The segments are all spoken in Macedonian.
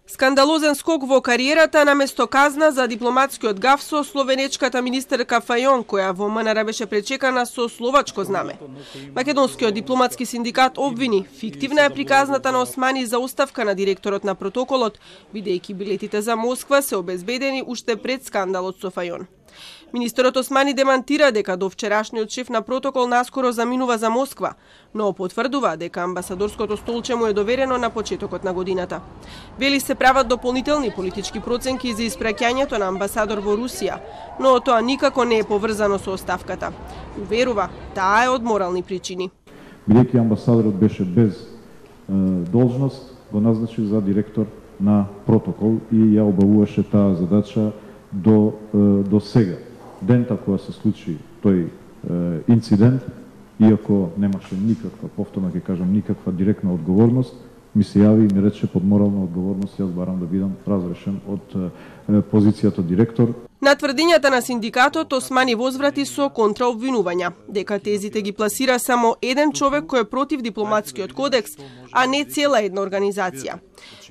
Скандалозен скок во кариерата наместо казна за дипломатскиот гаф со словенечката министерка Фајон, која во МНР беше пречекана со словачко знаме. Македонскиот дипломатски синдикат обвини фиктивна е приказната на Османи за оставка на директорот на протоколот, бидејќи билетите за Москва се обезбедени уште пред скандалот со Фајон. Министерот Османи демантира дека до вчерашниот шеф на протокол наскоро заминува за Москва, но потврдува дека амбасадорското столче му е доверено на почетокот на годината. Вели се прават дополнителни политички проценки за испраќањето на амбасадор во Русија, но тоа никако не е поврзано со оставката. Уверува, таа е од морални причини. Бидејќи амбасадорот беше без должност, го назначи за директор на протокол и ја обавуваше таа задача до сега. Дента кога се случи тој инцидент, иако немаше никаква, повторно ќе кажам, никаква директна одговорност, ми се јави и ми рече под морална одговорност јас барам да бидам разрешен од позицијата директор. На тврдењата на синдикатот Османи возврати со контраобвинувања, дека тезите ги пласира само еден човек кој е против дипломатскиот кодекс, а не цела една организација.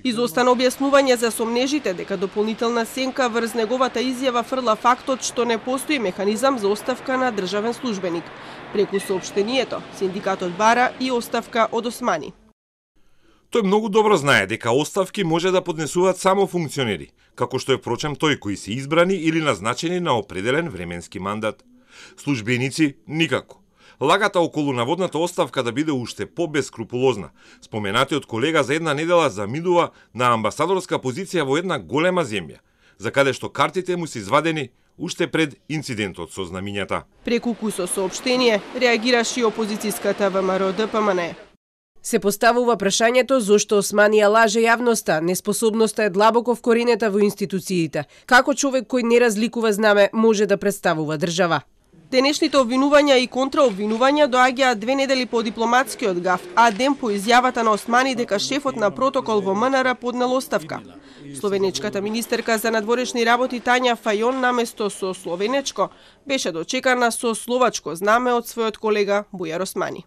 Изостана објаснување за сомнежите дека дополнителна сенка врз неговата изјава фрла фактот што не постои механизам за оставка на државен службеник. Преку соопштението, синдикатот бара и оставка од Османи. Тој многу добро знае дека оставки може да поднесуваат само функционери, како што е впрочем тој кои се избрани или назначени на определен временски мандат. Службеници никако. Лагата околу наводната оставка да биде уште побескрупулозна. Споменатиот колега за една недела заминува на амбасадорска позиција во една голема земја, за каде што картите му се извадени уште пред инцидентот со знамињата. Преку кусо соопштение реагираше и опозицијската ВМРО-ДПМН. Се поставува прашањето зошто Османи ја лаже јавноста, неспособноста е длабоко вкоренета во институциите. Како човек кој не разликува знаме може да представува држава? Денешните обвинувања и контраобвинувања доаѓаат 2 недели по дипломатскиот гаф, а ден по изјавата на Османи дека шефот на протокол во МНР поднел оставка. Словенечката министерка за надворешни работи Тања Фајон наместо со словенечко беше дочекана со словачко знаме од својот колега Бујар Османи.